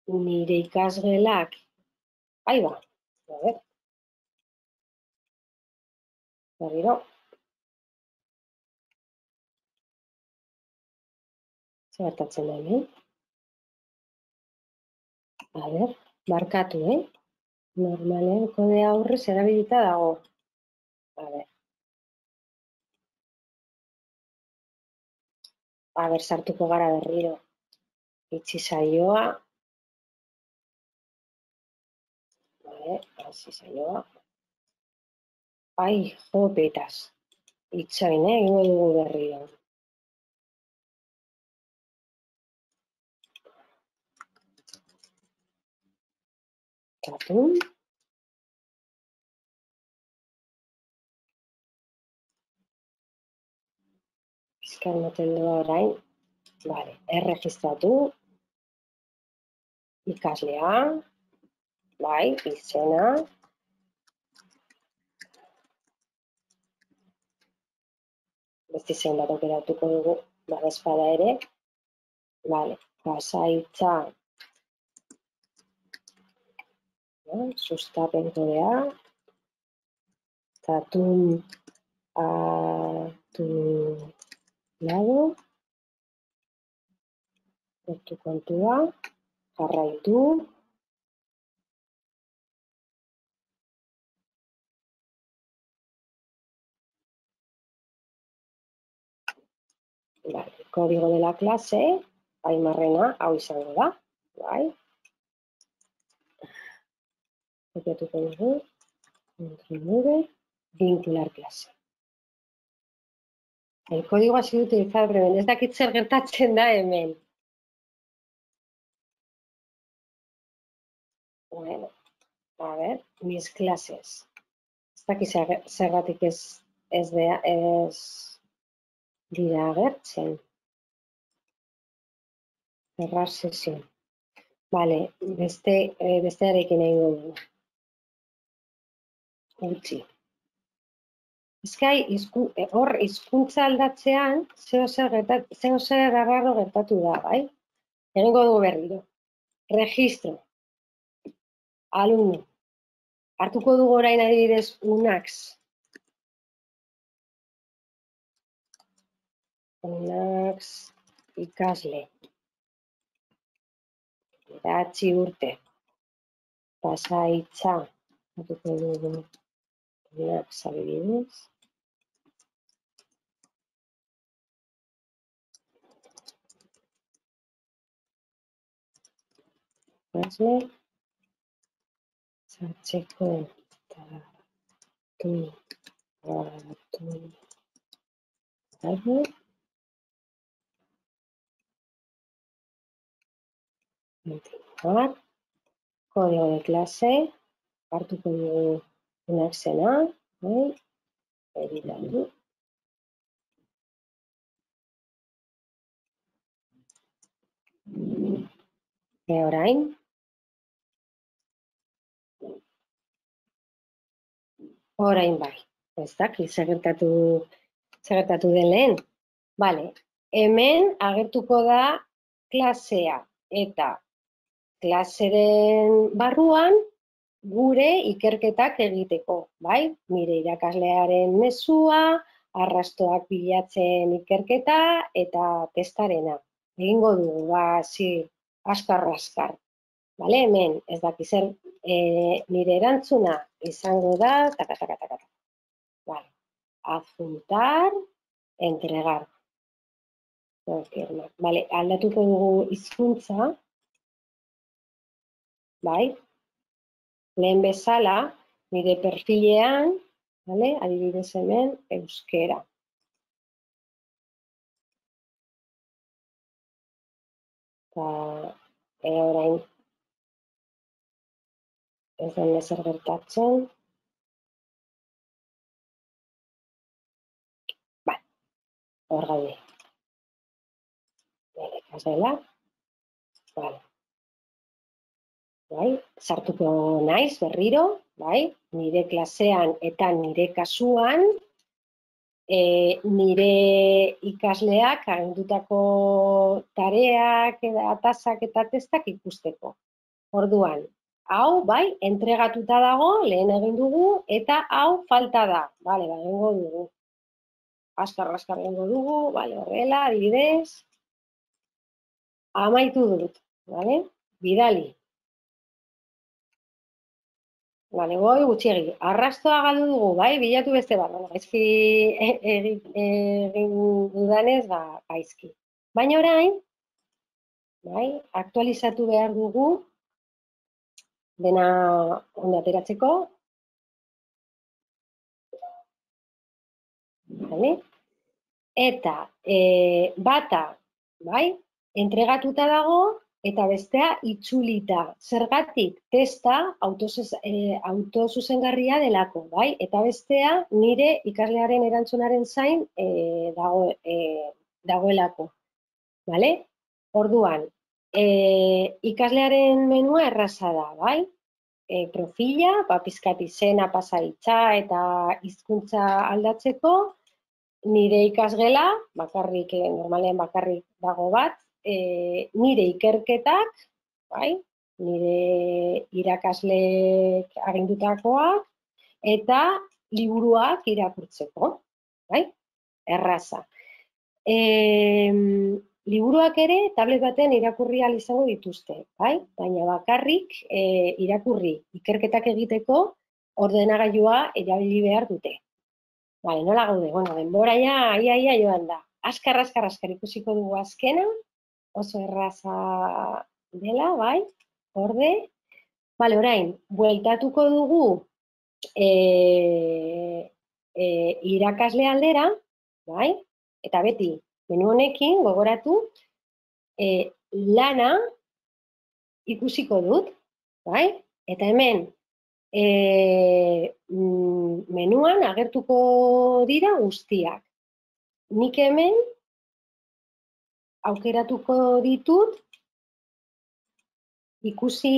nire ikasgelak, ahi ba, berriro, zer gertatzen da hemen? A ber, markatu, normalean kodea aurrez erabilita dago. A ber. A ber, sartuko gara berriro. Itxi saioa. Hasi saioa. Ai, jo, petaz. Itxain, egingo dugu berriro. Tatun. Bizkar moten doa orain. Vale, erregistratu. Ikaslea. Bai, izena. Beste izen bat aukeratuko dugu, badezpada ere. Vale, pasaitza. Sustapen kodea. Tatun atulado. Hortu kontua. Jarraitu. Vale, kodigo de la clase, Aimarrena, hau izango da, bai. Kopiatuko dugu, vincular clase. El código ha sido utilizado brevemente. Ez dakit zer gertatzen da hemen. Bueno, a ver, mis clases. daki zergatik ez dira agertzen. Cerrar sesión. Vale, bestearekin egingo dugu. Utzi. Ezkai, hor hizkuntza aldatzean, zeo zer arraro gertatu da, bai? Egingo dugu berriro. Registro. Alumno. Hartuko dugu orain adibidez UNAX. UNAX ikasle. 9 urte. Pasahitza. Hartuko dugu UNAX adibidez. Ikasle. Sartzeko eta continuar. Código de clase. Hartuko dugu UNAXena. Editatu. Orain. Orain bai. Ez dakit zer gertatu den lehen. Bale, hemen agertuko da klasea eta klaseren barruan gure ikerketak egiteko, bai? Nire irakaslearen mezua, arrastoak bilatzen ikerketa eta testarena. Egingo dugu, askar. Bale, hemen, ez dakit zer, nire erantzuna izango da, Vale, adjuntar, entregar. Vale, aldatuko dugu hizkuntza, bai? Lehen bezala, nire perfilean, vale? Adibidez hemen, euskera. Orain, ez den ezer gertatzen. Bai, hor gaude. Nire ikasgela. Bai. Bai, sartuko naiz berriro, bai? Nire klasean eta nire kasuan, nire ikasleak agindutako tareak, tasak eta testak ikusteko. Orduan, hau, bai, entregatuta dago, lehen egin dugu, eta hau falta da. Bale, egingo dugu. Askar egingo dugu, bale, horrela, adibidez. Amaitu dut, bale? Bidali. Bale, gutxiegi. Arrastoa galdu dugu, bai, bilatu beste bat. Gaizki egin dudanez, gaizki. Baina orain, bai, aktualizatu behar dugu, dena ondo ateratzeko. Eta bata, bai, entregatuta dago, eta bestea itzulita. Zergatik testa autozuzengarria delako, bai? Eta bestea nire ikaslearen erantzunaren zain dagoelako. Bale? Orduan, ikaslearen menua erraza da, bai? Profila, pizkat izena, pasahitza eta hizkuntza aldatzeko, nire ikasgela, normalean bakarrik dago bat, nire ikerketak, bai, nire irakasleek agindutakoak, eta liburuak irakurtzeko, bai, erraza. Liburuak ere tablet batean irakurri ahal izango dituzte, bai, baina bakarrik irakurri ikerketak egiteko ordenagailua erabili behar dute. Bai, nola gaude, denbora ia joan da. Askar ikusiko dugu azkena, oso erraza dela, bai, orde. Bale, orain, bueltatuko dugu irakasle aldera, bai, eta beti, menu honekin, gogoratu, lana ikusiko dut, bai, eta hemen menuan agertuko dira guztiak. Nik hemen aukeratuko ditut ikusi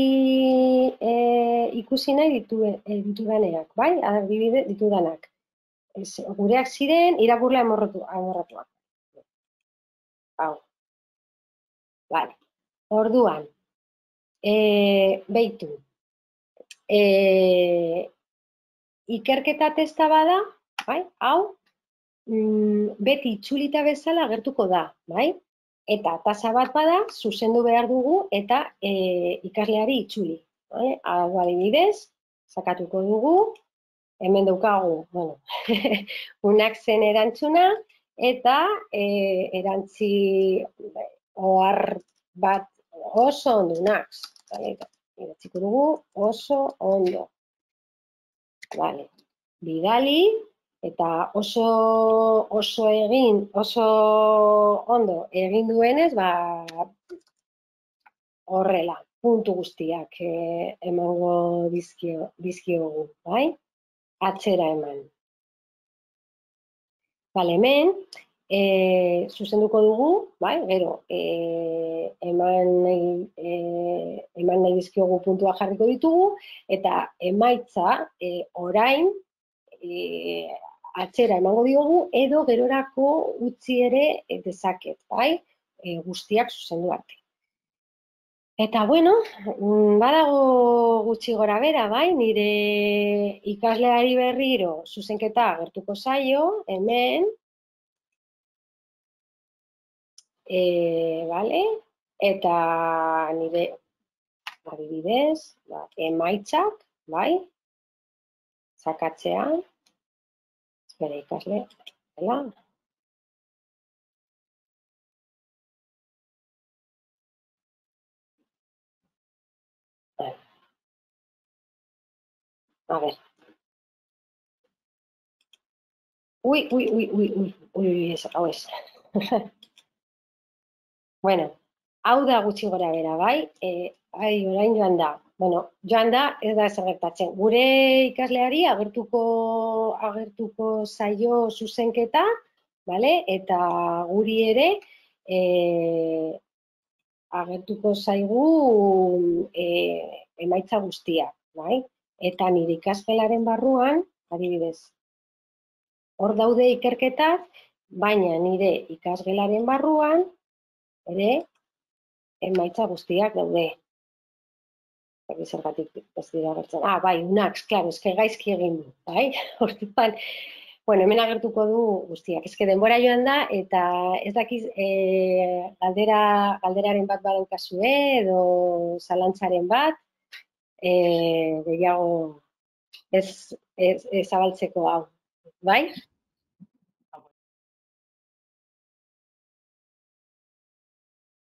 nahi ditudaneak, bai? Adibide ditudanak. Gureak ziren irakurle amorratuak. Hau. Vale. Orduan, beitu. Ikerketa testa bada, bai? Hau, beti itzulita bezala agertuko da, bai? Eta tasa bat bada, zuzendu behar dugu eta ikasleari itzuli. Hau adibidez, sakatuko dugu, hemen daukagu, bueno, unak zen erantzuna, eta erantzi ohar bat oso ondo, unak. Idatziko dugu oso ondo. Vale. Bidali, eta oso ondo egin duenez, horrela, puntu guztiak emango dizkiogu, bai? Atzera eman. Bale, hemen, zuzenduko dugu, bai? Gero, eman nahi dizkiogu puntua jarriko ditugu, eta emaitza orain atzera emango diogu, edo gerorako utzi ere dezaket, bai? Guztiak zuzendu arte. Eta, bueno, badago gutxi gora bera, bai? Nire ikasleari berriro zuzenketa agertuko zaio, hemen, vale? Eta nire adibidez, emaitzak, bai? Sakatzean, espera ikasle, dela. A ver. Ui, hau ez. Bueno, hau da gutxi gora bera, bai? Orain joan da. Bueno, joan da, ez da ezer gertatzen. Gure ikasleari agertuko zaio zuzenketa, bale? Eta guri ere agertuko zaigu emaitza guztiak, bai? Eta nire ikasgelaren barruan, adibidez, hor daude ikerketak, baina nire ikasgelaren barruan ere emaitza guztiak daude. Zergatik ez dira agertzen. Bai, unak, klaro, eske gaizki egin du, bai? Orduan, bueno, hemen agertuko du guztiak. Eske denbora joan da, eta ez dakiz galderaren bat badaukazue, edo zalantzaren bat, gehiago ez zabaltzeko hau, bai?